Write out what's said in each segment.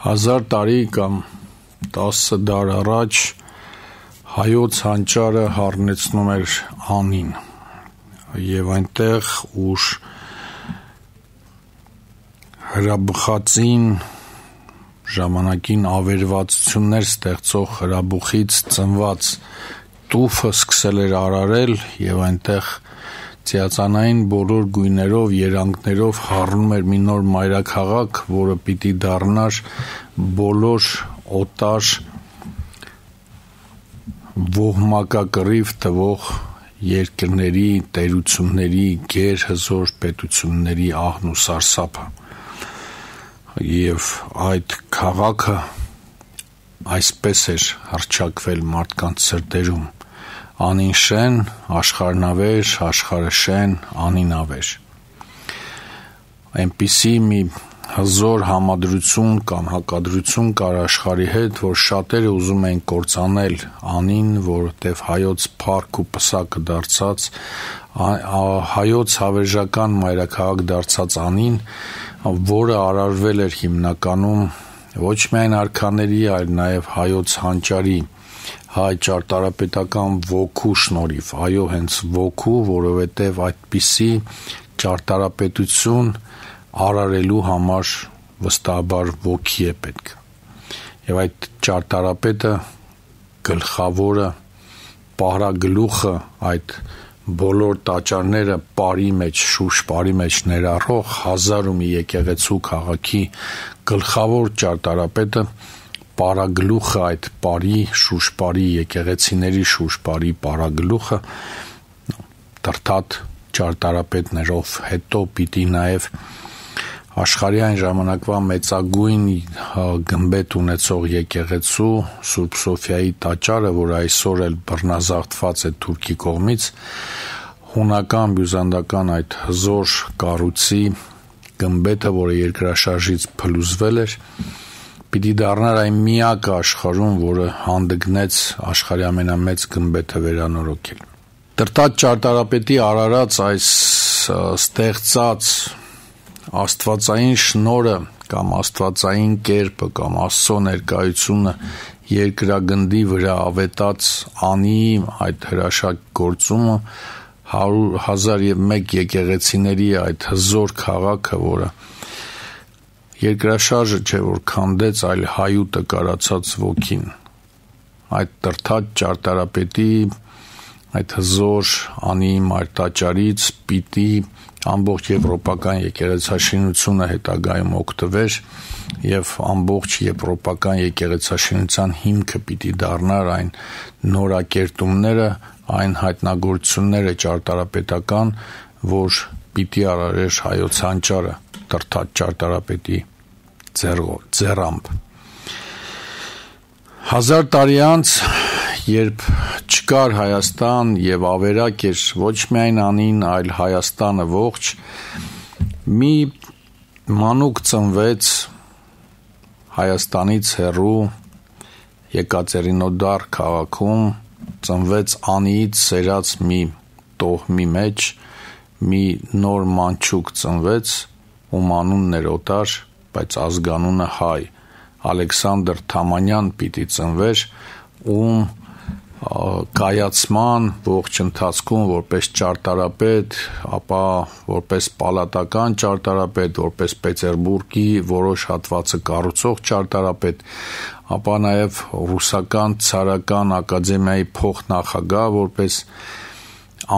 1000 տարի կամ 10 դար առաջ հայոց հանճարը հառնեցնում էր անին եւ այնտեղ ուր հրաբխածին ժամանակին ավերվածություններ ստեղծող հրաբուխից ծնված տուֆը սկսել էր արարել եւ այնտեղ Ծիածանային բոլոր գույներով, երանգներով հառնում էր մի նոր մայրաքաղաք, որը պիտի դառնար բոլոր օտար ոհմակակռիվ տվող երկրների, տերությունների, գերհզոր պետությունների ահն ու սարսափը։ Եվ այդ քաղաքը այսպես էր հռչակվել մարդկանց սրտերում. Անին շեն, աշխարհնավեր, աշխարհը շեն, անին ավեր։ Այնպիսի մի հզոր համադրություն կամ հակադրություն կար աշխարհի հետ, որ շատերը ուզում էին կործանել անին, որովհետև հայոց փառք ու պսակը դարձած, հայոց հավերժական մայրաքաղաք դարձած անին, որը արարվել էր հիմնականում ոչ միայն արքաների, այլ նաև հայոց հանճարի հայ ճարտարապետական ոգու շնորհիվ, այո, հենց ոգու, որովհետև այդպիսի ճարտարապետություն արարելու համար վստահաբար ոգի է պետք։ Եվ այդ ճարտարապետը գլխավորը, պարագլուխը, այդ բոլոր տաճարները բարի մեջ, շուրջ բարի մեջ ներառող 1000 ու մի եկեղեցու քաղաքի գլխավոր ճարտարապետը պարագլուխը, այդ բարի, շուրջ բարի եկեղեցիների շուրջ բարի պարագլուխը դրթատ ճարտարապետներով հետո պիտի նաև աշխարհի այն ժամանակվա մեծագույն գմբեթ ունեցող եկեղեցու Սուրբ Սոֆիայի տաճարը, որ այսօր էլ բռնազավթված է Թուրքի կողմից, հունական բյուզանդական այդ հզոր կառույցի գմբեթը, որը երկրաշարժից փլուզվել էր, պիտի դառնար այն միակը աշխարհում, որը հանդգնեց աշխարհի ամենամեծ գմբեթը վերանորոգել։ Դրտած ճարտարապետի արարած այս ստեղծած աստվածային շնորհը կամ աստվածային կերպը կամ Աստծո ներկայությունը երկրագնդի վրա ավետած անի այդ հրաշակ գործումը 1001 եկեղեցիների այդ հզոր քաղաքը, որը երկրաշարժը չէ որ քանդեց, այլ հայուտը կարացած ոգին։ Այդ դրթած ճարտարապետի այդ հզոր անի մայրտաճարից պիտի ամբողջ եվրոպական եկեղեցաշինությունը հետագայում օգտվեր եւ ամբողջ եվրոպական եկեղեցաշինության հիմքը պիտի դառնար այն նորակերտումները, այն հայտնագործությունները ճարտարապետական, որ պիտի արարեր հայոց հանճարը դրթած ճարտարապետի ձեռամբ։ 1000 տարի անց, երբ չկար Հայաստան եւ ավերակ էր ոչ միայն անին, այլ Հայաստանը ողջ, մի մանուկ ծնվեց Հայաստանից հեռու Եկատերինոդար քաղաքում, ծնվեց անիից սերած մի տոհմի մեջ, մի նոր մանչուկ ծնվեց, ում անունն էր Օտար, բայց ազգանունը հայ, Ալեքսանդր Թամանյան պիտի ծնվեր, ում կայացման ողջ ընթացքում որպես ճարտարապետ, ապա որպես պալատական ճարտարապետ, որպես Պետերբուրգի որոշ հատվածը կառուցող ճարտարապետ, ապա նաև ռուսական ցարական ակադեմիայի փոխնախագահ, որպես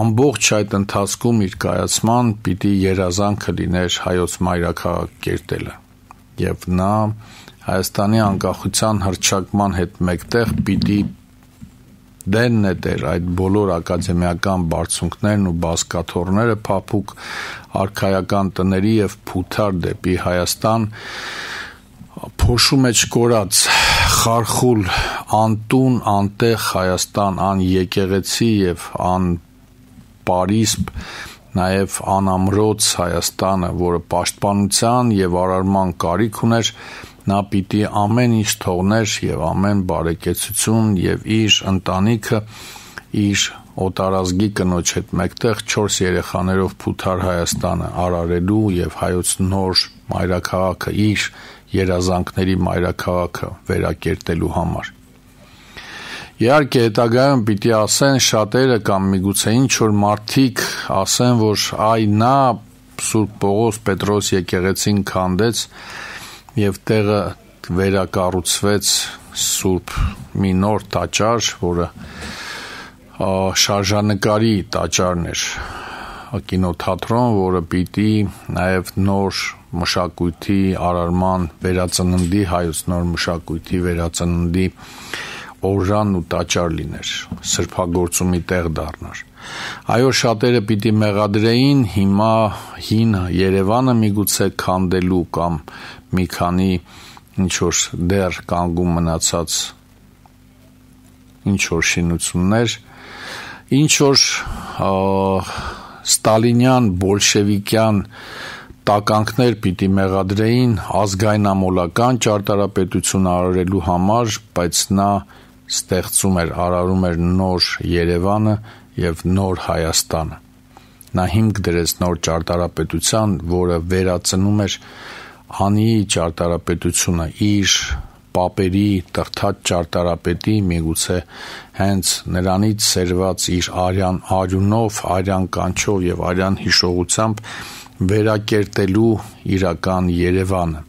ամբողջ այդ ընթացքում իր կայացման պիտի երազանքը լիներ հայոց մայրաքաղաք կերտելը եւ նա Հայաստանի անկախության հռչակման հետ մեկտեղ պիտի դեն նետեր այդ բոլոր ակադեմիական բարձունքներն ու բազկաթոռները փափուկ արքայական տների եւ փութար դեպի Հայաստան փոշու մեջ կորած խարխուլ անտուն անտեղ Հայաստան ան եկեղեցի եւ ան Պարիսպ նաև անամրոց Հայաստանը, որը պաշտպանության եւ արարման կարիք ուներ, նա պիտի ամեն ինչ թողներ եւ ամեն բարեկեցություն եւ իր ընտանիքը, իր օտարազգի կնոջ հետ մեկտեղ 4 երեխաներով փութար Հայաստանը արարելու եւ հայոց նոր մայրաքաղաքը իր երազանքների մայրաքաղաքը վերակերտելու համար։ Իհարկե հետագայում պիտի ասեն շատերը կամ միգուցե ինչ որ մարդիկ ասեն, որ այ նա Սուրբ Պողոս Պետրոս եկեղեցին քանդեց եւ տեղը վերակառուցվեց Սուրբ մի նոր տաճար, որը շարժանկարի տաճարն էր, կինոթատրոն, որը պիտի նաև նոր մշակույթի արարման վերածննդի, հայոց նոր մշակույթի վերածննդի օրրան ու տաճար լիներ, սրբագործումի տեղ դառնար։ Այո, շատերը պիտի մեղադրեին հիմա հին Երևանը միգուցե քանդելու կամ մի քանի ինչ-որ դեռ կանգուն մնացած ինչ-որ շինություններ, ինչ-որ ստալինյան, բոլշևիկյան տականքներ պիտի մեղադրեին ազգայնամոլական ճարտարապետություն արարելու համար, բայց նա ստեղծում էր, արարում էր նոր Երևանը և նոր Հայաստանը։ Նա հիմք դրեց նոր ճարտարապետության, որը վերածնում էր անիի ճարտարապետությունը իր պապերի տրթած ճարտարապետի միգուցե հենց նրանից սերված իր արյան արյունով, արյան կանչով եւ արյան հիշողությամբ վերակերտելու իրական Երևանը,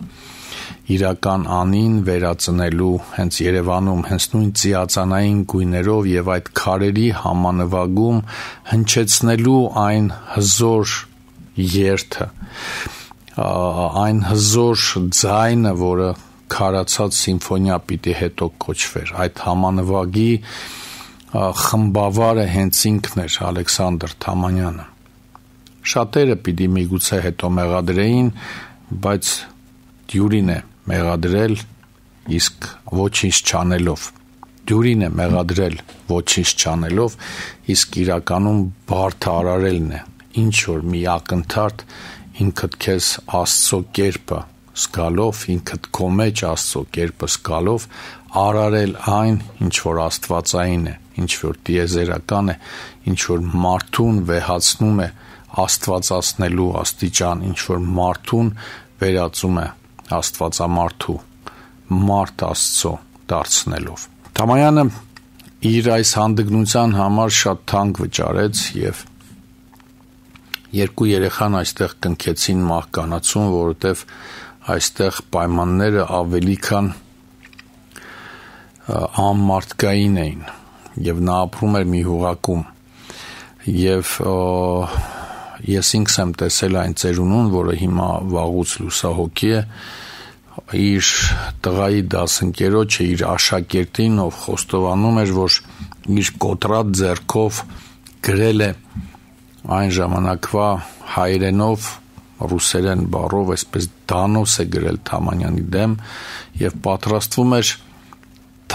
իրական անին վերածնելու հենց Երևանում, հենց նույն ծիածանային գույներով եւ այդ քարերի համանվագում հնչեցնելու այն հզոր երթը, այն հզոր ձայնը, որը քարացած սիմֆոնիա պիտի հետո կոչվեր, այդ համանվագի խմբավարը հենց ինքն էր Ալեքսանդր Թամանյանը։ Շատերը պիտի միգուցե հետո մեղադրեին, բայց դյուրին է մեղադրել, իսկ ոչինչ չանելով։ Դյուրին է մեղադրել ոչինչ չանելով, իսկ իրականում բարդը արարելն է, ինչ որ մի ակնթարթ ինքդ քեզ Աստծո կերպը զգալով, ինքդ քո մեջ Աստծո կերպը զգալով արարել այն, ինչ որ աստվածային է, ինչ որ տիեզերական է, ինչ որ մարդուն վեհացնում է աստվածացնելու աստիճան, ինչ որ մարդուն վերածում է աստվածամարդու, մարդ Աստծո դարձնելով։ Թամանյանը իր այս հանդգնության համար շատ թանկ վճարեց եւ 2 երեխան այստեղ կնքեցին մահկանացուն, որովհետեւ այստեղ պայմանները ավելի քան անմարդկային էին եւ նա ապրում էր մի հուղակում եւ ես ինքս եմ տեսել այն ծերունուն, որը հիմա վաղուց լուսահոգի է, իր տղայի դասընկերոջը, իր աշակերտին, ով խոստովանում էր, որ իր կոտրած ձեռքով գրել է այն ժամանակվա հայերենով, ռուսերեն բառով, այսպես դանոս է գրել Թամանյանի դեմ եւ պատրաստվում էր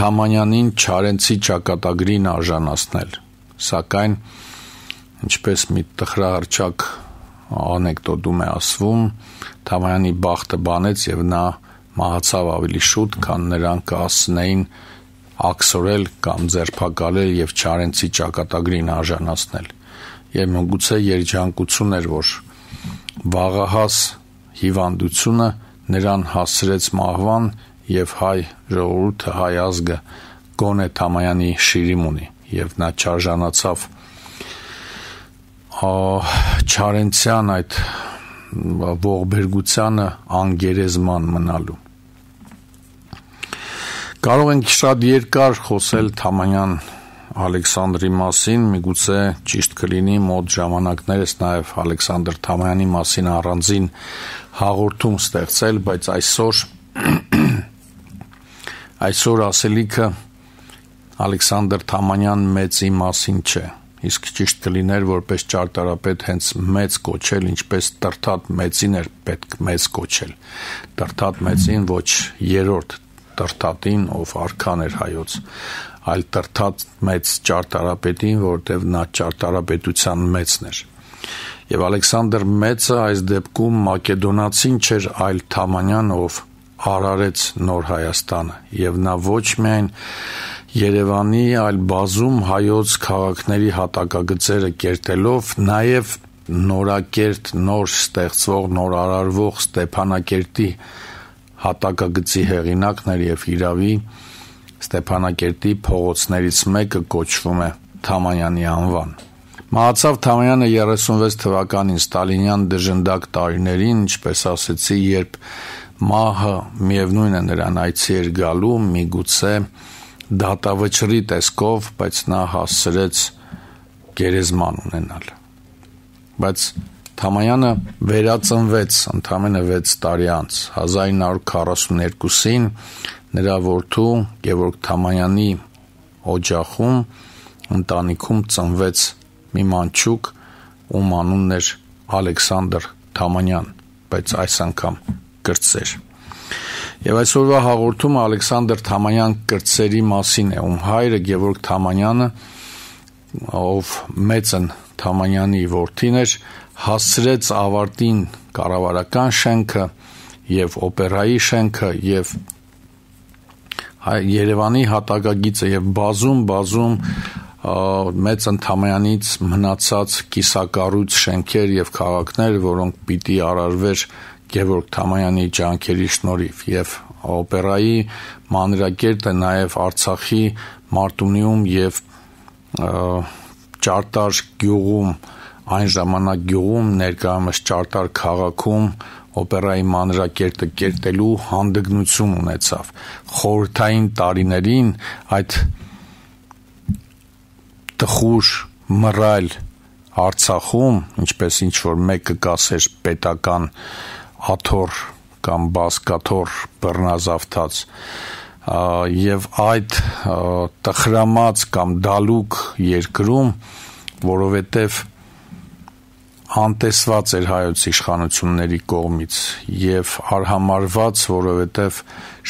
Թամանյանին Չարենցի ճակատագրին արժանացնել, սակայն ինչպես մի տխրահռչակ անեկդոտում է ասվում, Թամանյանի բախտը բանեց եւ նա մահացավ ավելի շուտ, քան նրան կհասցնեին աքսորել կամ ձերբակալել եւ Չարենցի ճակատագրին արժանացնել։ Եվ միգուցե երջանկություն էր, որ վաղահաս հիվանդությունը նրան հասցրեց մահվան եւ հայ ժողովուրդը, հայ ազգը գոնե Թամանյանի շիրիմ ունի եւ նա չարժանացավ Չարենցյան այդ ողբերգությանը անգերեզման մնալու։ Կարող ենք շատ երկար խոսել Թամանյան Ալեքսանդրի մասին, միգուցե ճիշտ կլինի մոտ ժամանակներս նաև Ալեքսանդր Թամանյանի մասին առանձին հաղորդում ստեղծել, բայց այսօր ասելիքը Ալեքսանդր Թամանյան մեծի մասին չէ, իսկ ճիշտ կլիներ որպես ճարտարապետ հենց մեծ կոչել, ինչպես Տրթատ մեծին էր պետք մեծ կոչել, Տրթատ մեծին ոչ երրորդ Տրթատին, ով արքան էր հայոց, այլ Տրթատ մեծ ճարտարապետին, որտեղ նա ճարտարապետության մեծն էր։ Եվ Ալեքսանդր մեծը այս դեպքում մակեդոնացին չէր, այլ Թամանյան, ով արարեց նոր Հայաստանը, եւ նա ոչ միայն Երևանի այլ բազում հայոց քաղաքների հատակագծերը կերտելով նաև նորակերտ, նոր ստեղծվող, նոր արարվող Ստեփանակերտի հատակագծի հեղինակն էր եւ իրավի Ստեփանակերտի փողոցներից մեկը կոչվում է Թամանյանի անվան։ Մահացավ Թամանյանը 36 թվականին ստալինյան դժնդակ տարիներին, ինչպես ասեցի, երբ մահը միևնույն է նրան այցի էր գալու, միգուցե դատավճռի տեսքով, բայց նա հասցրեց գերեզման ունենալ։ Բայց Թամանյանը վերածնվեց ընդամենը 6 տարի անց, 1942-ին նրա որդու Գևորգ Թամանյանի օջախում ընտանիքում ծնվեց մի մանչուկ, ում անունն էր Ալեքսանդր Թամանյան, բայց այս անգամ կրտսեր։ Եվ այսօրվա հաղորդումը Ալեքսանդր Թամանյան կրտսերի մասին է, ում հայրը Գևորգ Թամանյանը, ով մեծն Թամանյանի որդին էր, հասցրեց ավարտին կառավարական շենքը եւ օպերայի շենքը եւ Երևանի հատակագիծը եւ բազում մեծն Թամանյանից մնացած կիսակառույց շենքեր եւ քաղաքներ, որոնք պիտի արարվեր Գևորգ Թամանյանի ջանքերի շնորհիվ եւ օպերայի մանրակերտը նաեւ Արցախի Մարտունիում եւ Ճարտար գյուղում, այն ժամանակ գյուղում, ներկայումս Ճարտար քաղաքում օպերայի մանրակերտը կերտելու հանդգնություն ունեցավ։ Խորհրդային տարիներին այդ տխուր մռայլ Արցախում, ինչպես ինչ-որ մեկը կասեր պետական աթոռ կամ բազկաթոռ բռնազավթած, եւ այդ տխրամած կամ դալուկ երկրում, որովհետեւ անտեսված էր հայոց իշխանությունների կողմից եւ արհամարված, որովհետեւ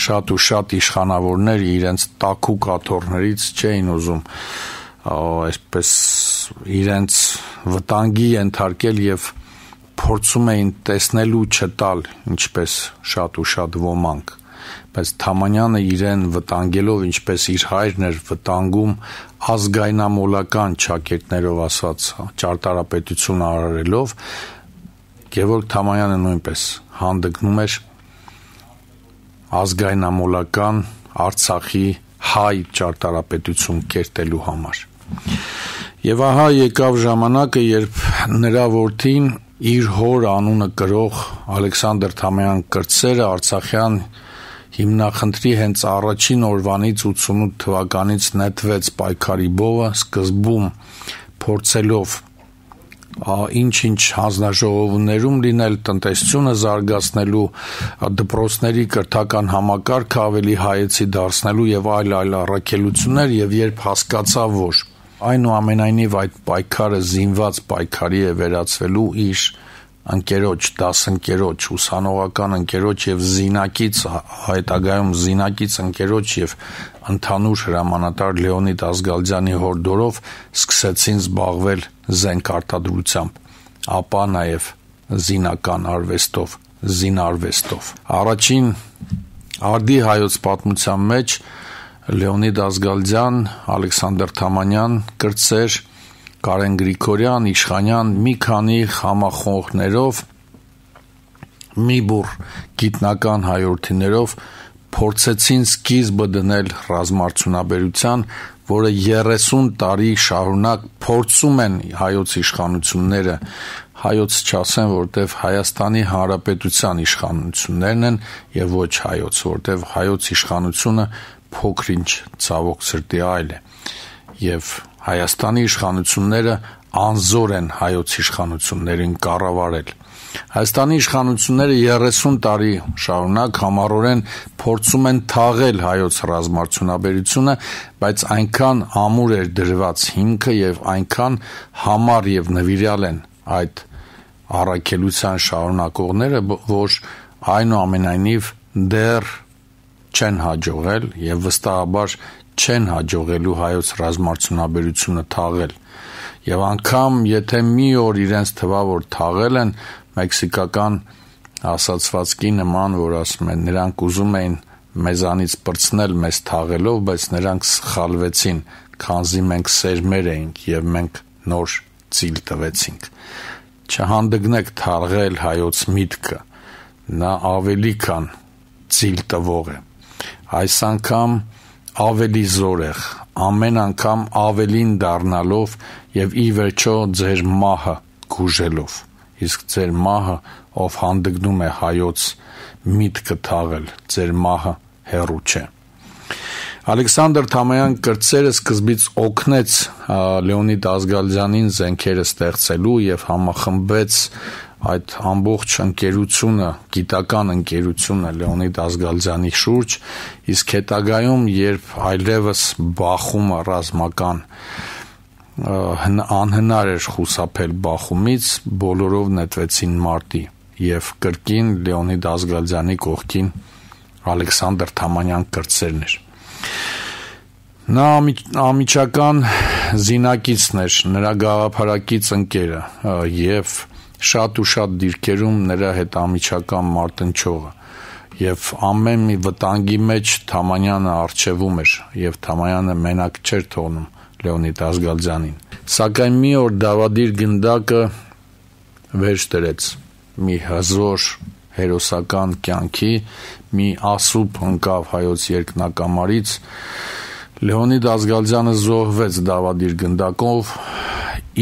շատ ու շատ իշխանավորներ իրենց տաքուկ աթոռներից չէին ուզում այսպես իրենց վտանգի ենթարկել եւ փորձում էին տեսնելու չտալ, ինչպես շատ ու շատ ոմանք, բայց Թամանյանը իրեն վտանգելով, ինչպես իր հայրն էր վտանգում ազգայնամոլական ճակերտներով ասված ճարտարապետություն արարելով, Գևորգ Թամանյանը նույնպես հանդգնում էր ազգայնամոլական Արցախի հայ ճարտարապետություն կերտելու համար։ Եվ ահա եկավ ժամանակը, երբ նրա որդին իր հոր անունը կրող Ալեքսանդր Թամանյան կրտսերը Արցախյան հիմնախնդրի հենց առաջին օրվանից 88 թվականից նետվեց պայքարի բովը, սկզբում փորձելով ինչ-ինչ հանձնաժողովներում լինել, տնտեսությունը զարգացնելու, դպրոցների կրթական համակարգը ավելի հայեցի դարձնելու եւ այլ առաքելություններ, եւ երբ հասկացավ, որ այնուամենայնիվ այդ պայքարը զինված պայքարի է վերածվելու իր ընկերոջ, դասընկերոջ, ուսանողական ընկերոջ եւ զինակից, հետագայում զինակից ընկերոջ եւ ընդհանուր հրամանատար Լեոնիդ Ազգալյանի հորդորով սկսեցին զբաղվել զենքարտադրությամբ, ապա նաեւ զինական արվեստով, զինարվեստով։ Առաջին արդի հայոց պատմության մեջ Լեոնիդ Ազգալյան, Ալեքսանդր Թամանյան կրտսեր, Կարեն Գրիգորյան, Իշխանյան մի քանի համախոհներով, մի բուռ գիտնական հայորդիներով փորձեցին սկիզբը դնել ռազմարդյունաբերության, որը 30 տարի շարունակ փորձում են հայոց իշխանությունները, հայոց չասեն, որտեվ Հայաստանի Հանրապետության իշխանություններն են եւ ոչ հայոց, որտեվ հայոց իշխանությունը փոքրինչ ցավոք սրտի այլ է եւ Հայաստանի իշխանությունները անզոր են հայոց իշխանություններին կառավարել։ Հայաստանի իշխանությունները 30 տարի շարունակ համառորեն փորձում են թաղել հայոց ռազմարդյունաբերությունը, բայց այնքան ամուր էր դրված հիմքը եւ այնքան համառ եւ նվիրյալ են այդ առաքելության շարունակողները, որ այնուամենայնիվ դեռ չեն հաջողել եւ վստահաբար չեն հաջողելու հայոց ռազմարդյունաբերությունը թաղել։ Եվ անգամ եթե մի օր իրենց թվա որ թաղել են, մեքսիկական ասացվածքի նման, որ ասում են նրանք ուզում էին մեզանից պրծնել մեզ թաղելով, բայց նրանք սխալվեցին, քանզի մենք սերմեր էինք և մենք նոր ծիլ տվեցինք։ Չհանդգնեք թարգել հայոց միտքը, նա ավելի քան ծիլ տվող է։ Այս անգամ ավելի զորեղ, ամեն անգամ ավելին դառնալով և ի վերջո ձեր մահը գուժելով, իսկ ձեր մահը, ով հանդգնում է հայոց միտքը թաղել, ձեր մահը հեռու չէ։ Ալեքսանդր Թամանյան կրտսերը սկզբից օգնեց Լեոնիդ Ազգալյանին զենքերը ստեղծելու և համախմբեց այդ ամբողջ ընկերությունը, գիտական ընկերությունը Լեոնիդ Ազգալյանի շուրջ, իսկ հետագայում, երբ այլևս բախումը ռազմական անհնար էր խուսափել բախումից, բոլորով նետվեցին մարտի և կրկին Լեոնիդ Ազգալյանի կողքին Ալեքսանդր Թամանյան կրտսերն էր։ Նա ամիջական զինակիցն էր, նրա գաղափարակից ընկերը և շատ ու շատ դիրքերում նրա հետ ամիջական մարտնչողը և ամեն մի վտանգի մեջ Թամանյանը առջևում էր և Թամանյանը մենակ չէր թողնում Լեոնիդ Ազգալյանին։ Սակայն մի օր դավադիր գնդակը վերջ դրեց մի հզոր հերոսական կյանքի, մի ասուբ ընկավ հայոց երկնակամարից, Լեոնիդ Ազգալյանը զոհվեց դավադիր գնդակով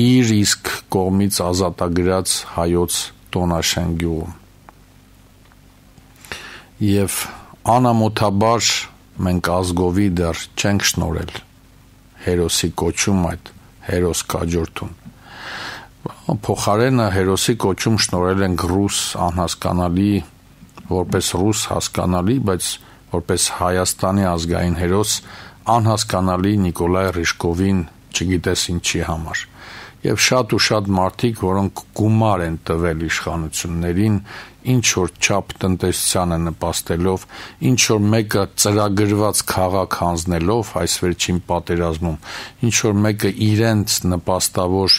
իր իսկ կողմից ազատագրած հայոց Տոնաշեն գյուղում։ Եվ անամոթաբար մենք ազգովի դեռ չենք շնորհել հերոսի կոչում այդ հերոս կաջորդուն։ Փոխարենը հերոսի կոչում շնորհել ենք ռուս անհասկանալի, որպես ռուս հասկանալի, բայց որպես Հայաստանի ազգային հերոս անհասկանալի Նիկոլայ Ռիժկովին, չգիտես ինչի համար։ Եվ շատ ու շատ մարդիկ, որոնք գումար են տվել իշխանություններին, ինչ-որ չափ տնտեսությանը նպաստելով, ինչ-որ մեկը ծրագրված քաղաք հանձնելով այս վերջին պատերազմում, ինչ-որ մեկը իրենց նպաստավոր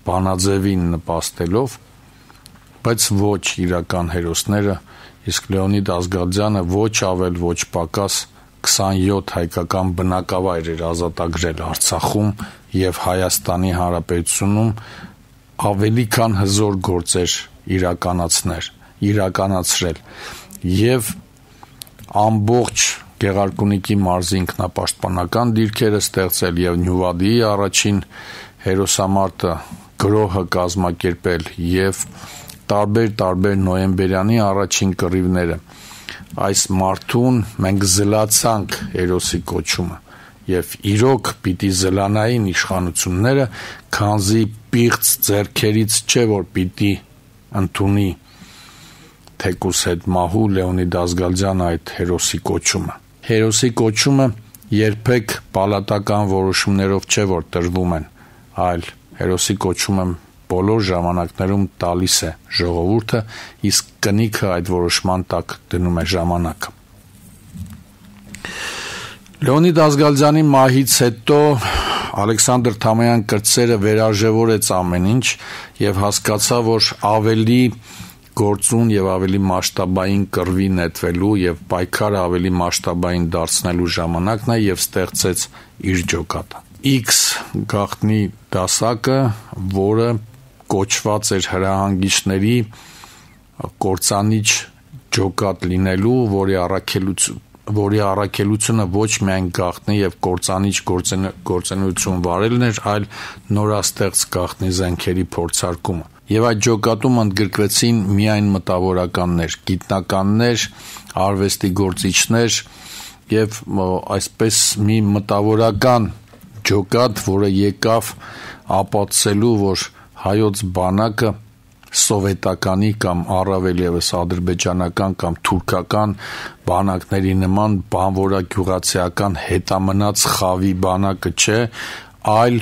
բանաձևին նպաստելով, բայց ոչ իրական հերոսները, իսկ Լեոնիդ Ազգալյանը ոչ ավել, ոչ պակաս 27 հայկական բնակավայր էր ազատագրել Արցախում և Հայաստանի Հանրապետությունում ավելի քան հզոր գործեր իրականացրել և ամբողջ Գեղարքունիքի մարզի ինքնապաշտպանական դիրքերը ստեղծել և Նյուվադիի առաջին հերոսամարտը գրոհը կազմակերպել և տարբեր նոյեմբերյանի առաջին կռիվները։ Այս մարդուն մենք զլացանք հերոսի կոչումը և իրոք պիտի զլանային իշխանությունները, քանզի պիղծ ձեռքերից չէ, որ պիտի ընդունի թեկուզ հետ մահու Լեոնիդ Ազգալյանը այդ հերոսի կոչումը։ Հերոսի կոչումը երբեք պալատական որոշումներով չէ, որ տրվում են, այլ հերոսի կոչումը բոլոր ժամանակներում տալիս է ժողովուրդը, իսկ կնիքը այդ որոշման տակ դնում է ժամանակը։ Լեոնիդ Ազգալյանի մահից հետո Ալեքսանդր Թամանյան կրտսերը վերարժևորեց ամեն ինչ և հասկացավ, որ ավելի գործուն և ավելի մասշտաբային կռվի նետվելու և պայքարը ավելի մասշտաբային դարձնելու ժամանակն է և ստեղծեց իր ջոկատը։ X գաղտնի դասակը, որը կոչված էր հրահանգիչների կործանիչ ջոկատ լինելու, որի առաքելությունը ոչ միայն գաղտնի և կործանիչ գործունեություն վարելն էր, այլ նորաստեղծ գաղտնի զենքերի փորձարկումը։ Եվ այդ ջոկատում ընդգրկվեցին միայն մտավորականներ, գիտնականներ, արվեստի գործիչներ և այսպես մի մտավորական ջոկատ, որը եկավ ապացուցելու, որ հայոց բանակը սովետականի կամ առավել ևս ադրբեջանական կամ թուրքական բանակների նման բանվորագյուղացիական հետամնաց խավի բանակը չէ, այլ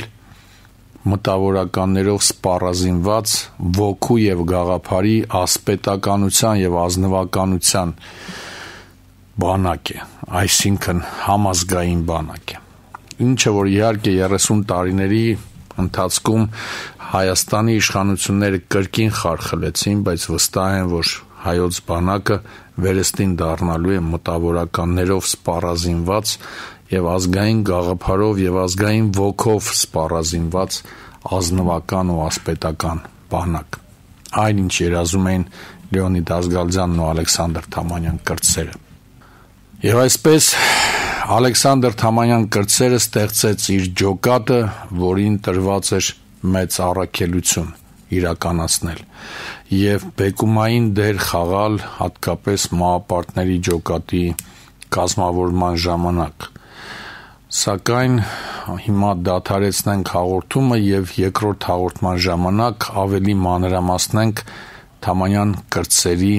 մտավորականներով սպառազինված ոգու և գաղափարի ասպետականության և ազնվականության բանակ է, այսինքն համազգային բանակ է։ Ինչը որ իհարկե 30 տարիների ընթացքում Հայաստանի իշխանությունները կրկին խարխլեցին, բայց վստահ եմ, որ հայոց բանակը վերստին դառնալու է մտավորականներով սպառազինված եւ ազգային գաղափարով եւ ազգային ոգով սպառազինված ազնվական ու ասպետական բանակ, այն ինչ երազում էին Լեոնիդ Ազգալզյանն ու Ալեքսանդր Թամանյան կրտսերը։ Եվ այսպես Ալեքսանդր Թամանյան կրտսերը ստեղծեց իր ջոկատը, որին տրված էր մեծ առաքելություն իրականացնել եւ բեկումային դեր խաղալ հատկապես մահապարտների ջոկատի կազմավորման ժամանակ։ Սակայն հիմա դադարեցնենք հաղորդումը եւ երկրորդ հաղորդման ժամանակ ավելի մանրամասնենք Թամանյան կրտսերի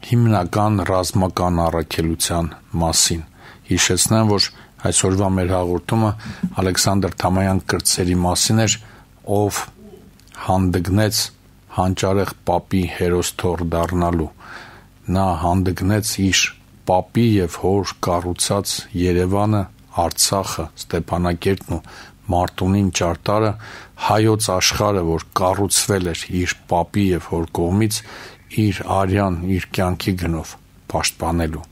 հիմնական ռազմական առաքելության մասին։ Հիշեցնեմ, որ այսօրվա մեր հաղորդումը Ալեքսանդր Թամանյան կրտսերի մասին էր, ով հանդգնեց հանճարեղ պապի հերոսթոռ դառնալու։ Նա հանդգնեց իր պապի եւ հոր կառուցած Երևանը, Արցախը, Ստեփանակերտն ու Մարտունին ճարտարը, հայոց աշխարհը, որ կառուցվել էր իր պապի եւ հոր կողմից, իր արյան, իր կյանքի գնով պաշտպանելու։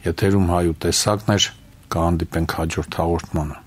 Եթերում Հայ ու տեսակն էր, կհանդիպենք հաջորդ հաղորդմանը։